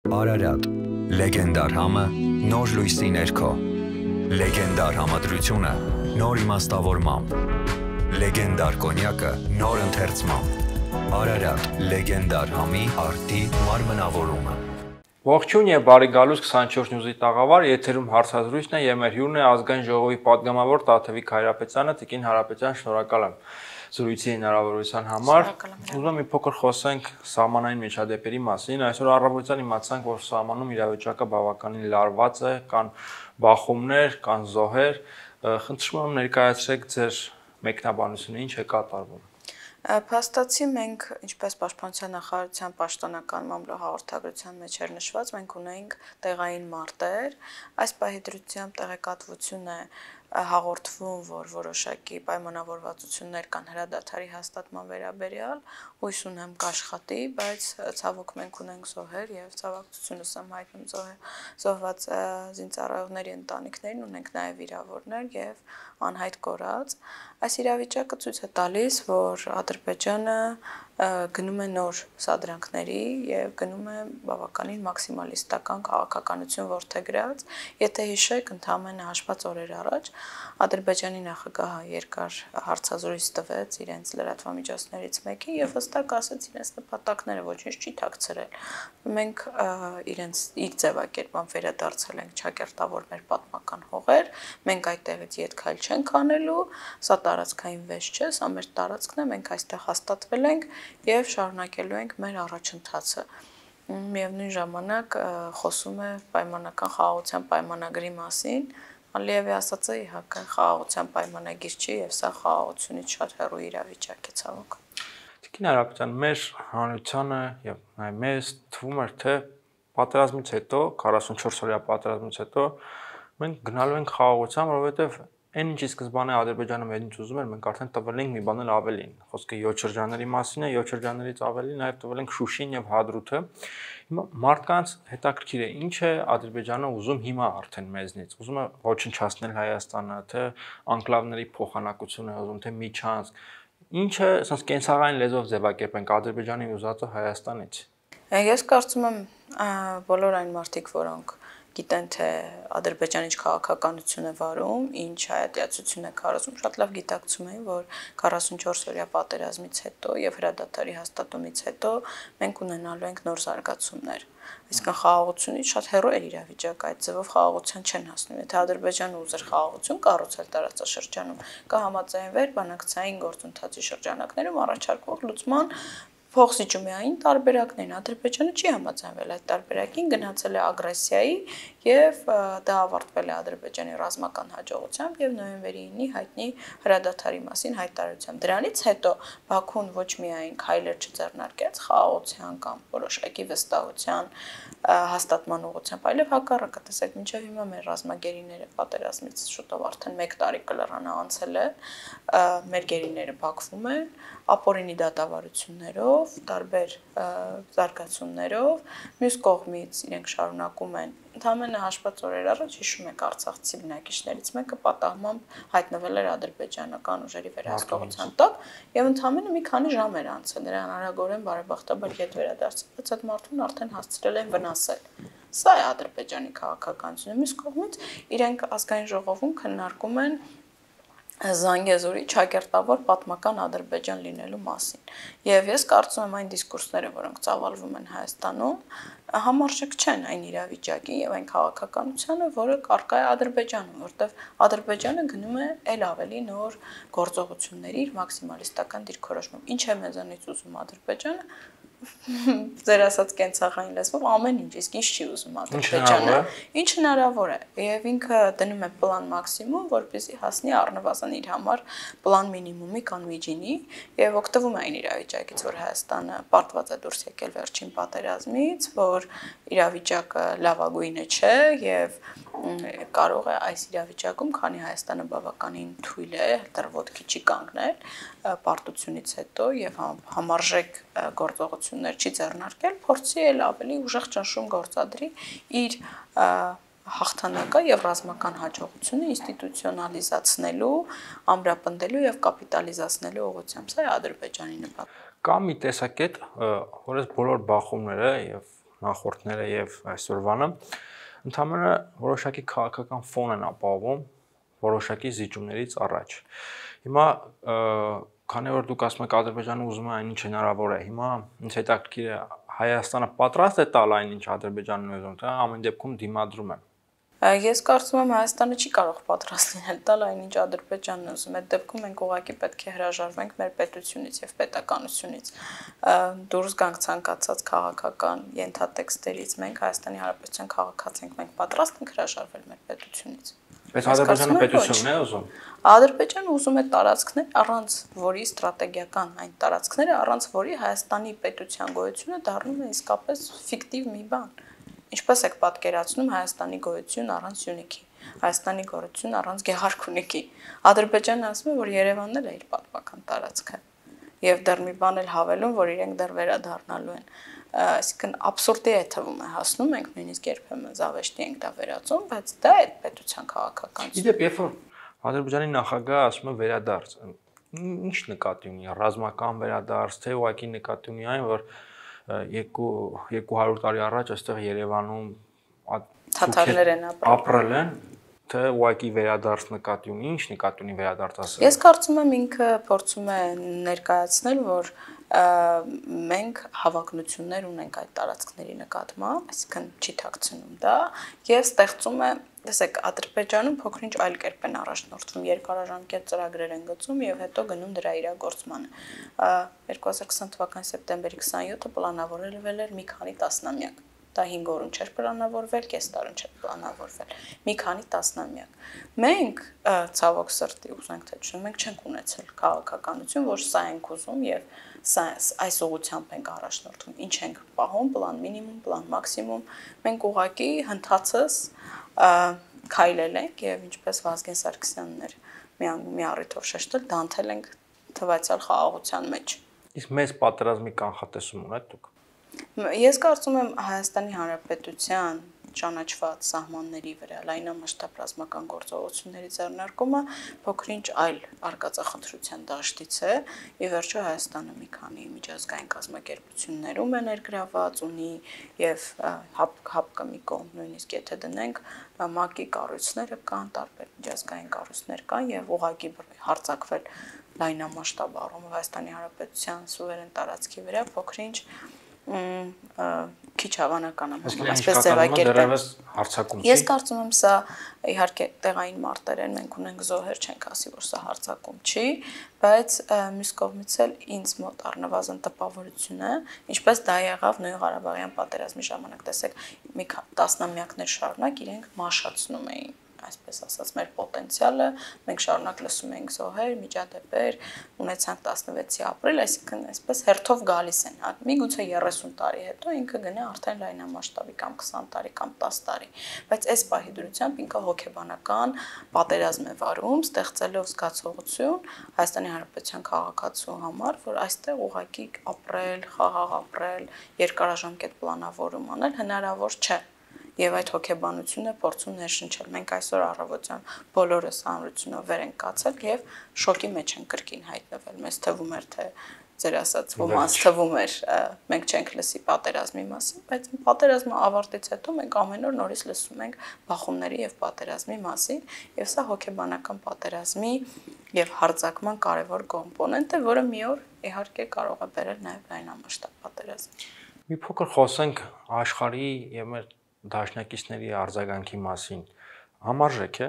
Արարատ, լեգենդար համը, նոր լույսի ներքո, լեգենդար համադրությունը, նոր իմաստավորմամբ, լեգենդար կոնյակը, նոր ընթերցմամբ, Արարատ, լեգենդար համի արդի մարմնավորումը։ Ողջույն եւ բարի գալուս 24 նյուզի տաղավար, եթերում հարցազրույցն է եւ մեր հյուրն է ազգային ժողովի պատգամավոր Տաթևիկ Հայրապետյանը, Տիկին Հայրապետյան, շնորհակալ եմ զրույցի հնարավորության համար։ Ուզում եմ մի փոքր խոսենք սահմանային միջադեպերի մասին։ Այսօր առավոտյան իմացանք, որ սահմանում իրավիճակը բավականին լարված է, կան բախումներ, կան զոհեր։ Խնդրում եմ ներկայացրեք ձեր մեկնաբանությունը, ինչ է կատարվում։ Փաստացի մենք, ինչպես Պաշտպանության նախարարության պաշտոնական մամլոյհաղորդագրության մեջ էր նշված, մենք ունեինք տեղային մարտեր, այս պահի դրությամբ տեղեկատվություն է հաղորդվում, որ որոշակի պայմանավորվածություններ կան հրադադարի հաստատման վերաբերյալ, հույս ունեմ կաշխատի, բայց ցավոք մենք ունենք զոհեր եւ ցավակցությունս եմ հայտնում զոհված զինծառայողների ընտանիքներին, ունենք նաեւ վիրավորներ եւ անհայտ կորած։ Այս իրավիճակը ցույց է տալիս, որ Ադրբեջանը գնում է նոր սադրանքների եւ գնում է բավականին մաքսիմալիստական քաղաքականություն որդեգրած։ Եթե հիշեք, ընդամենը հաշված օրեր առաջ Ադրբեջանի նախագահը երկար հարցազրույց տվեց իրենց լրատվամիջոցներից մեկին եւ հստակ ասաց իրենց նպատակները, ոչինչ չի թաքցրել։ Մենք իրենց իր ձևակերպան վերադարձել ենք ճակերտավոր մեր պատմական հողեր, մենք այդտեղից ետ քայլ չենք անելու, սա տարածքային վեճ չէ, սա մեր տարածքն է, մենք այստեղ հաստատվել ենք եւ շարունակելու ենք մեր առաջընթացը։ Միևնույն ժամանակ խոսում է պայմանական խաղաղության պայմանագրի մասին, Ալիևի ասածը իհարկե խաղաղության պայմանագիր չի եւ սա խաղաղությունից շատ հեռու իրավիճակ է ցավոք։ Տիկին Հայրապետյան, մեր հանրությանը եւ նաեւ մեզ թվում էր, թե պատերազմից հետո 44 օրյա պատերազմից հետո մենք գնալու ենք խաղաղության, որովհետեւ այն ինչ սկզբանե Ադրբեջանը մեզնից ուզում էր, մենք արդեն տվել ենք մի բան էլ ավելին։ Խոսքը 7 շրջանների մասին է, 7 շրջաններից ավելի նաև տվել ենք Շուշին եւ Հադրութը։ Հիմա մարդկանց հետաքրքիր է, ինչ է Ադրբեջանը ուզում հիմա արդեն մեզնից։ Ուզում է ոչնչացնել Հայաստանը, թե անկլավների փոխանակություն է ուզում, թե միջանցք։ Ինչ է, ասես կենսաղային լեզվով ձևակերպենք Ադրբեջանի ուզածը Հայաստանից։ Ես կարծում եմ բոլոր այն մարդիկ, որոնք գիտեն, թե Ադրբեջանը ինչ քաղաքականություն է վարում, ինչ հայատյացություն է քարոզում, շատ լավ գիտակցում էին, որ 44 օրյա պատերազմից հետո եւ հրադադարի հաստատումից հետո մենք ունենալու ենք նոր զարգացումներ։ Այսինքն խաղաղությունից շատ հեռու է իրավիճակը, այդ ձևով խաղաղության չեն հասնում։ Եթե Ադրբեջանը ուզեր խաղաղություն կառուցել տարածաշրջանում, կհամաձայնվեր բանակցային գործընթացի շրջանակներում առաջարկվող լուծման փոխզիջումային տարբերակներն Ադրբեջանը չի համաձայնվել այդ տարբերակին, գնացել է ագրեսիայի եւ դա ավարտվել է Ադրբեջանի ռազմական հաջողությամբ եւ նոյեմբերի 9-ի հայտնի հրադադարի մասին հայտարարությամբ։ Դրանից հետո Բաքուն ոչ միայն քայլեր չձեռնարկեց խաղաղության կամ որոշակի վստահության հաստատման ուղղությամբ, այլև հակառակը, տեսեք, մինչև հիմա մեր ռազմագերիները պատերազմից շուտով արդեն 1 տարի կլրանա անցել է, մեր գերիները բախվում են ապօրինի դատավարություններով, տարբեր զարգացումներով, մյուս կողմից իրենք շարունակում են ընդամենը հաշված օրեր առաջ հիշում եք արցախցի բնակիչներից մեկը պատահմամբ հայտնվել էր ադրբեջանական ուժերի վերահսկողության տակ եւ ընդամենը մի քանի ժամ էր անցել, նրան արագորեն բարեբախտաբար ետ վերադարձել, բայց այդ մարդուն արդեն հասցրել են վնասել։ Սա է Ադրբեջանի քաղաքականությունը։ Մյուս կողմից իրենք ազգային ժողովում քննարկում են Զանգեզուրի ճակերտավոր պատմական Ադրբեջան լինելու մասին։ Եվ ես կարծում եմ այն դիսկուրսները, որոնք ծավալվում են Հայաստանում, համարժեք չեն այն իրավիճակի եւ այն քաղաքականությանը, որը կարգա է Ադրբեջանում, որտեղ Ադրբեջանը գնում է ել ավելի նոր գործողությունների իր մաքսիմալիստական դիրքորոշմամբ։ Ինչ է մեզանից ուզում Ադրբեջանը։ Ձեր ասած կենցաղային լեզվով ամեն ինչ, իսկ ինչ չի ուզում Ադրբեջանը։ Ինչ հնարավոր է։ Եվ ինքը դնում է պլան մաքսիմում, որպեսզի հասնի առնվազն իր համար պլան մինիմումի կամ միջինի եւ օգտվում է այն իրավիճակից, որ Հայաստանը պարտված է դուրս եկել վերջին պատերազմից, որ իրավիճակը լավագույնը չէ եւ կարող է այս իրավիճակում, քանի Հայաստանը բավականին թույլ է, դեռ ոտքի չի կանգնել պարտությունից հետո եւ համարժեք գործողություններ չի ձեռնարկել, փորձի էլ ավելի ուժեղ ճնշում գործադրի իր հաղթանակը եւ ռազմական հաջողությունը ինստիտուցիոնալիզացնելու, ամրապնդելու եւ կապիտալիզացնելու ուղղությամբ։ Սա է Ադրբեջանի նպատակը։ Կա մի տեսակետ, որ այս բոլոր բախումները եւ նախորդները եւ այսօրվանը, ընդհանրապես որոշակի քաղաքական ֆոն են ապահովում որոշակի զիջումներից առաջ։ Հիմա քանի որ դուք ասում եք Ադրբեջանը ուզում է այնինչ հնարավոր է, հիմա ինձ հետաքրքիր է Հայաստանը պատրաստ է տալ այնինչ Ադրբեջանն ուզում, թե ամեն դեպքում դիմադրում է։ Ես կարծում եմ Հայաստանը չի կարող պատրաստ լինել տալ այնինչ Ադրբեջանն ուզում է։ Այդ դեպքում մենք ուղղակի պետք է հրաժարվենք մեր պետությունից եւ պետականությունից։ Դուրս գանք ցանկացած քաղաքական ենթատեքստերից, մենք Հայաստանի Հանրապետության քաղաքացի ենք, մենք պատրաստ ենք հրաժարվել մեր պետությունից։ Բայց Ադրբեջանը պետությունն է ուզում։ Ադրբեջանը ուզում է տարածքներ, առանց որի ստրատեգիական այն տարածքները, առանց որի Հայաստանի պետության գոյությունը դառնում է իսկապես ֆիկտիվ մի բան։ Ինչպես եք պատկերացնում Հայաստանի գոյություն առանց Սյունիքի, Հայաստանի գոյություն առանց Գեղարքունիքի։ Ադրբեջանը ասում է, որ Երևանն էլ է իր պատմական տարածքը։ Եվ դեռ մի բան էլ հավելում, որ իրենք դեռ վերադառնալու են։ Այսինքն աբսուրդի է թվում է հասնում, մենք նույնիսկ երբեմն զավեշտի ենք դա վերածում, բայց դա է պետության քաղաքականություն։ Իդեպ, երբ որ Ադրբեջանի նախագահը ասում է վերադարձ, ինչ նկատի ունի, ռազմական վերադարձ, թե ուղղակի նկատի ունի այն, որ 200 տարի առաջ այստեղ Երևանում թաթարներ են ապրել են, թե ուղղակի վերադարձ նկատի ունի, ինչ նկատի ունի վերադարձ ասել։ Ես կարծում եմ ինքը փորձում է ներկայացնել, որ մենք հավակնություններ ունենք այդ տարածքների նկատմամբ, այսինքն չի թաքցնում դա, եւ ստեղծում է, տեսեք, Ադրբեջանում փոքրինչ այլ կերպ են առաջնորդվում, երկարաժամկետ ծրագրեր են գծում եւ հետո գնում դրա իրագործմանը։ 2020 թվականի սեպտեմբերի 27-ը պլանավորվել էր մի քանի տասնամյակ։ Դա 5 օրում չէր պլանավորվել, կես տարում չէր պլանավորվել։ Մի քանի տասնամյակ։ Մենք ցավոք սրտի ուզենք թե չէ, մենք չենք ունեցել քաղաքականություն, որ սա ենք ուզում եւ այս ուղղությամբ ենք առաջնորդվում։ Ինչ ենք պահում, պլան մինիմում, պլան մաքսիմում։ Մենք ուղղակի հնդածս քայլել ենք եւ ինչպես Վազգեն Սարգսյանն էր մի առիթով շեշտել, դանթել ենք թվացial խաղաղության մեջ։ Իսկ մեծ պատերազմի կանխատեսում ունեք դուք։ Ես կարծում եմ Հայաստանի Հանրապետության ճանաչված սահմանների վրա լայնամասշտաբ ռազմական գործողությունների ձեռնարկումը փոքրինչ այլ արկածախնդրության դաշտից է։ Ի վերջո Հայաստանը մի քանի միջազգային կազմակերպություններում է ներգրաված, ունի եւ հապկը մի կողմ նույնիսկ եթե դնենք ՄԱԿ-ի կառույցները կան, տարբեր միջազգային կառույցներ կան եւ ուղղակի հարձակվել լայնամասշտաբ առումով Հայաստանի Հանրապետության սուվերեն տարածքի վրա փոքրինչ քիչ հավանական է, այսպես ձևակերպել։ Ես կարծում եմ սա իհարկե տեղային մարտեր են, մենք ունենք զոհեր, չենք ասի, որ սա հարձակում չի, բայց մյուս կողմից էլ ինձ մոտ առնվազն տպավորություն է, ինչպես դա եղավ Նույն Ղարաբաղյան պատերազմի ժամանակ, տեսեք, մի տասնամյակներ շարունակ իրենք մաշացնում էին այսպես ասած մեր պոտենցիալը, մենք շարունակ լսում ենք զոհեր, միջադեպեր, ունեցանք 16-ի ապրիլ, այսինքն այսպես հերթով գալիս են, միգուցե 30 տարի հետո ինքը գնա արդեն լայնամասշտաբի կամ 20 տարի կամ 10 տարի, բայց այս պահի դրությամբ ինքը հոգեբանական պատերազմ է վարում, ստեղծելով զգացողություն Հայաստանի Հանրապետության քաղաքացու համար, որ այստեղ ուղղակի ապրել, խաղաղ ապրել, երկարաժամկետ պլանավորում անել հնարավոր չէ։ Եվ այդ հոգեբանությունը փորձում ներշնչել։ Մենք այսօր առավոտյան բոլորս հանրությունով վեր ենք կացել եւ շոկի մեջ ենք կրկին հայտնվել։ Մեզ թվում էր, թե ձեր ասած ոմանց թվում էր, մենք չենք լսի պատերազմի մասին, բայց պատերազմը ավարտից հետո մենք ամեն օր նորից լսում ենք բախումների եւ պատերազմի մասին, եւ սա հոգեբանական պատերազմի եւ հարձակման կարեւոր կոմպոնենտ է, որը մի օր իհարկե կարող է բերել նաեւ լայնամասշտաբ պատերազմ։ Մի փոքր խոսենք աշխարհի եւ մեր դաշնակիցների արձագանքի մասին, համարժեք է։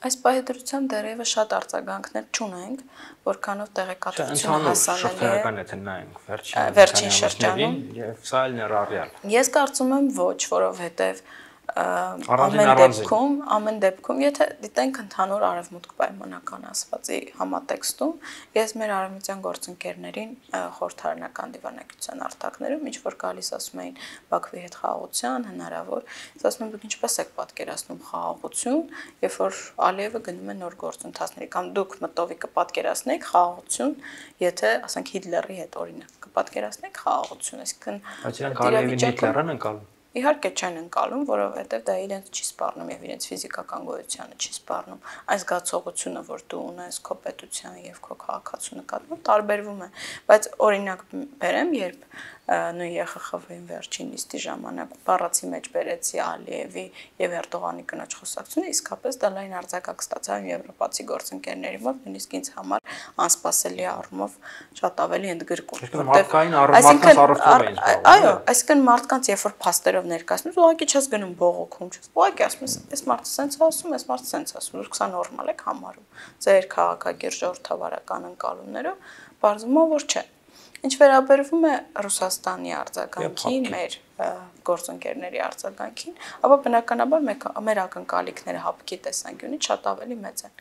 Այս պահի դրությամբ դեռևս շատ արձագանքներ չունենք, որքանով տեղեկատվություն հասանելի է։ Շրջանական եթե նայենք վերջին շրջանում եւ սա էլ ներառյալ։ Ես կարծում եմ ոչ, որովհետեւ ամեն դեպքում, եթե դիտենք ընդհանուր արևմուտք պայմանական ասվածի համատեքստում, ես մեր արևմտյան գործընկերներին խորհրդարանական դիվանագիտության արտակներում ինչ որ գալիս ասում էին Բաքվի հետ խաղաղության հնարավոր, ես ասում եմ դուք ինչպես եք պատկերացնում խաղաղություն, երբ որ Ալիևը գնում է նոր գործընթացների կամ դուք մտովի կպատկերացնեիք խաղաղություն, եթե ասենք Հիտլերի հետ օրինակ կպատկերացնեիք խաղաղություն, այսինքն բայց իրանք Ալիևին Հիտլերն են կալում։ Իհարկե չեն ընկալում, որովհետև դա իրենց չի սպառնում եւ իրենց ֆիզիկական գոյությանը չի սպառնում։ Այս զգացողությունը, որ դու ունես քո պետության եւ քո քաղաքացու նկատմամբ, տարբերվում է։ Բայց օրինակ բերեմ, երբ նույն ԵԽԽՎ-ին վերջին նիստի ժամանակ բառացի մեջ բերեցի Ալիևի եւ Էրդողանի կնոջ խոսակցությունը, իսկապես դա լայն արձագանք ստացավ եվրոպացի գործընկերների մոտ, նույնիսկ ինձ համար անսպասելի առումով շատ ավելի ընդգրկուն։ Այո, այսինքն մարդկանց երբ որ փաստերով ներկայացնում, ուղղակի չես գնում բողոքում, չես ուղղակի ասում ես, այս մարդը սենց ասում, այս մարդը սենց ասում, դուք սա նորմալ եք համարում։ Ձեր քաղաքագիր ժողովրդավարական ընկալումներով բարձում է որ չէ։ Ինչ վերաբերվում է Ռուսաստանի արձագանքին, մեր գործընկերների արձագանքին, ապա բնականաբար մեր ակնկալիքները հապկի տեսանկյունից շատ ավելի մեծ են։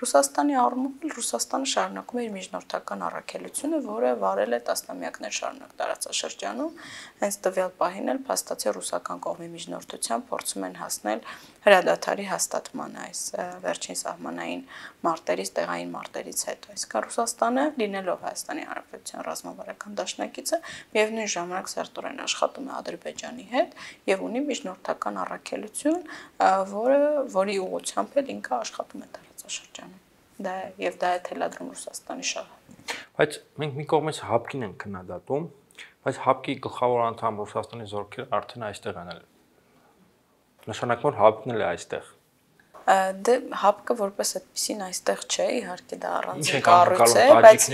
Ռուսաստանի առումով Ռուսաստանը շարունակում է իր միջնորդական առաքելությունը, որը վարել է տասնամյակներ շարունակ տարածաշրջանում, հենց տվյալ պահին էլ փաստացի ռուսական կողմի միջնորդությամբ փորձում են հասնել հրադադարի հաստատմանը այս վերջին սահմանային մարտերից, տեղային մարտերից հետո։ Այսինքն Ռուսաստանը, լինելով Հայաստանի Հանրապետության ռազմավարական դաշնակիցը, միևնույն ժամանակ սերտորեն աշխատում է Ադրբեջանի հետ եւ ունի միջնորդական առաքելություն, որի ուղղությամբ էլ ինքը աշխատում է տարածաշրջանում։ Դա է թելադրում Ռուսաստանի շահը։ Բայց մենք մի կողմից հապկին ենք քննադատում, բայց հապկի գլխավոր անդամ Ռուսաստանի զորքերը արդեն այստեղ են։ Նշանակում որ հապկն էլ է այստեղ։ Դե հապկը որպես այդպեսին այստեղ չէ, իհարկե դա առանձին կառույց է, բայց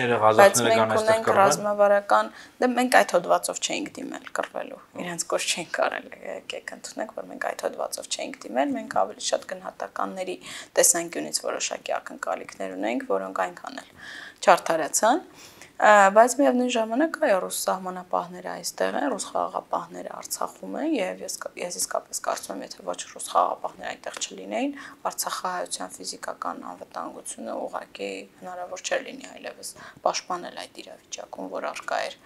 մենք ունենք ռազմավարական, դե մենք այդ հոդվածով չէինք դիմել կռվելու, իրենց կոչ չէինք կարել, եկեք ընդունենք, որ մենք այդ հոդվածով չէինք դիմել, մենք ավելի շատ գնահատականների տեսանկյունից որոշակի ակնկալիքներ ունենք, որոնք այնքան էլ չարդարացան, բայց միևնույն ժամանակ այո, ռուս սահմանապահները այստեղ են, ռուս խաղաղապահները Արցախում են եւ ես իսկապես կարծում եմ, եթե ոչ ռուս խաղաղապահները այնտեղ չլինեին, Արցախահայության ֆիզիկական անվտանգությունը ուղղակի հնարավոր չէր լինի այլևս պաշտպանել այդ իրավիճակում, որ արկա էր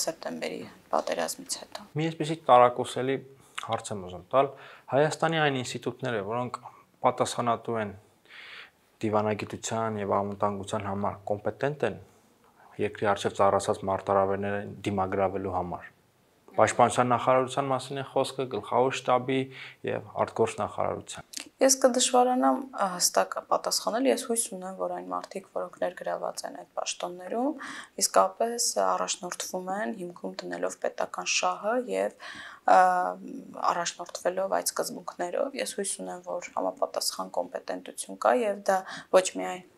սեպտեմբերի պատերազմից հետո։ Մի այսպեսի տարակուսելի հարց եմ ուզում տալ, Հայաստանի այն ինստիտուտները, որոնք պատասխանատու են դիվանագիտության եւ անվտանգության համար կոմպետենտ են երկրի արժեվ ծառացած մարտահրավերները դիմագրավելու համար։ Պաշտպանության նախարարության մասին է խոսքը, գլխավոր շտաբի եւ արտգործ նախարարության։ Ես կդժվարանամ հստակ պատասխանել, ես հույս ունեմ, որ այն մարդիկ, որոնք ներգրաված են այդ պաշտոններում, իսկապես առաջնորդվում են հիմքում դնելով պետական շահը եւ առաջնորդվելով այդ սկզբունքներով։ Ես հույս ունեմ, որ համապատասխան կոմպետենտություն կա եւ դա ոչ միայն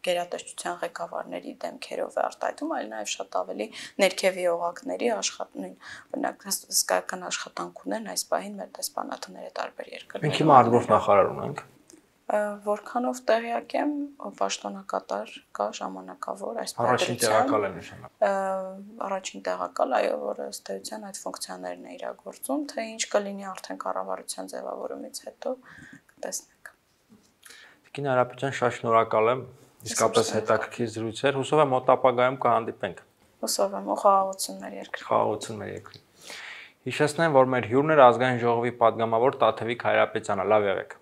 գերատեսչության ղեկավարների դեմքերով է արտահայտում, այլ նաև շատ ավելի ներքևի օղակների օրինակ հսկայական աշխատանք ունեն այս պահին մեր դեսպանատները տարբեր երկրներում։ Մենք հիմա արտգործ նախարար ունենք։ Որքանով տեղյակ եմ, պաշտոնակատար կա ժամանակավոր այս Առաջին տեղակալ է նշանակում։ Առաջին տեղակալ, այո, որը ըստ էության այդ ֆունկցիաներն է իրագործում, թե ինչ կլինի արդեն կառավարության ձևավորումից հետո կտեսնենք։ Տիկին Արապետյան, շատ շնորհակալ եմ։ Իսկապես հետաքրքիր զրույց էր։ Հուսով եմ մոտ ապագայում կհանդիպենք։ Հուսով եմ, խաղաղություն մեր երկրի։ Խաղաղություն մեր երկրի։ Հիշեցնեմ, որ մեր հյուրն էր ազգային ժողովի падգամավոր Տաթևիկ Հայրապետյանը։ Լավ եղեք։